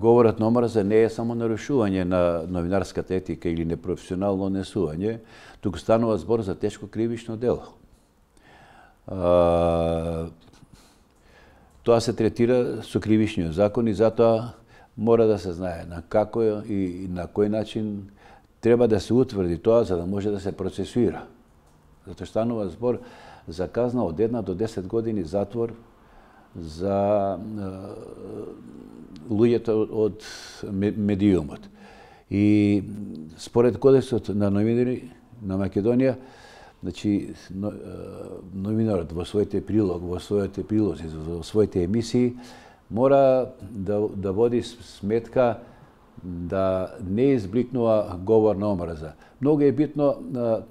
Говорот на омраза не е само нарушување на новинарската етика или непрофесионално однесување, туку станува збор за тешко кривично дело. Тоа се третира со кривичниот закон и затоа мора да се знае на како и на кој начин треба да се утврди тоа за да може да се процесуира. Затоа станува збор за казна од 1 до 10 години затвор за луѓето од медиумот. И според Кодексот на новинари на Македонија, значи новинарот во своите прилози, во своите емисии мора да води сметка да не избликнува говор на омраза. Многу е битно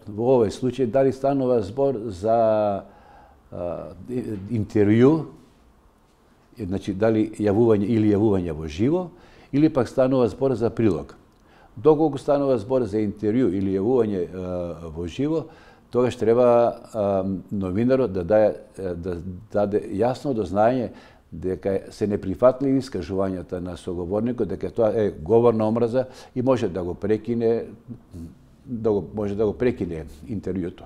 во овој случај дали станува збор за интервју, значи дали јавување во живо, или пак станува збор за прилог. Доколку станува збор за интервју или јавување во живо, тогаш треба новинарот да даде јасно до знаење дека се неприфатливи искажувањата на соговорникот, дека тоа е говор на омраза и може да го прекине интервјуто.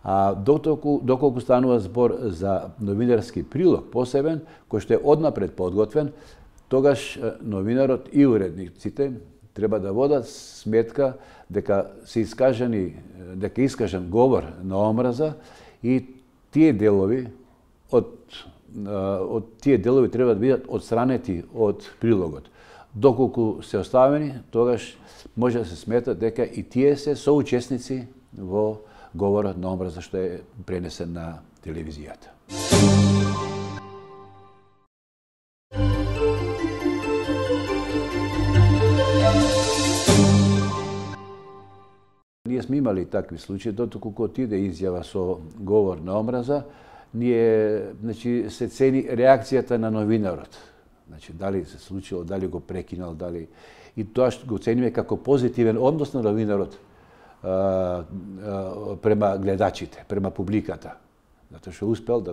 А доколку станува збор за новинарски прилог посебен, кој што е однапред подготвен, тогаш новинарот и уредниците треба да водат сметка дека искажан говор на омраза и тие делови треба да бидат отстранети од прилогот. Доколку се оставени, тогаш може да се смета дека и тие се соучесници во говорот на омраза што е пренесен на телевизијата. Ние сме имали такви случаи, дотоку кога отиде изјава со говор на омраза, значи, се цени реакцијата на новинарот. Значи, дали се случило, дали го прекинал, дали... И тоа што го цениме како позитивен однос на новинарот према гледачите, према публиката. Затоа што успел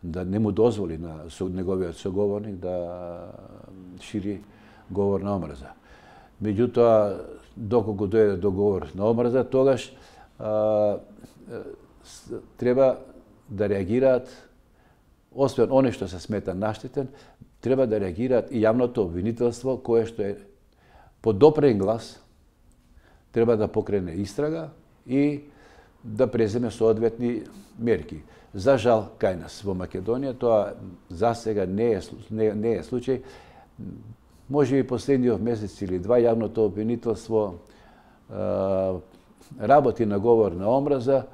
да не му дозволи на неговиот соговорник да шири говор на омраза. Меѓутоа, доколку дојде до говор на омраза, тогаш треба да реагираат, освен оне што се смета наштетен, треба да реагираат и јавното обвинителство, кое што е под допрен глас, треба да покрене истрага и да преземе соодветни мерки. За жал, кај нас во Македонија, тоа за сега не е случај. Може би последниот месец или два јавното обвинителство работи на говор на омраза,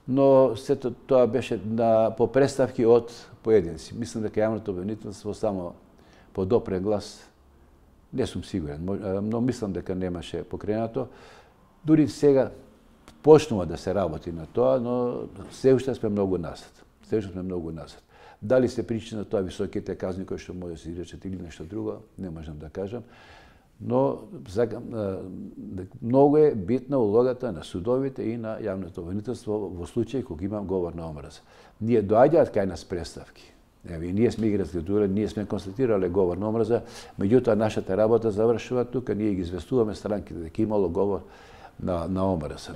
но сето тоа беше по представки од поединци. Мислам дека јавното обвинителство само по допрен глас, не сум сигурен, но мислам дека немаше покренато. Дури сега почнува да се работи на тоа, но се уште сме многу назад. Дали се причина тоа високите казни кои што може да се изречат или нешто друго, не можам да кажам. Но многу е битна улогата на судовите и на јавното обвинителство во случај кога има говор на омраза. Ние доаѓаат кај нас представки. Ние сме ги разгледували, ние сме констатирале говор на омраза, меѓутоа нашата работа завршува тука, ние ги известуваме странките дека имало говор на омраза.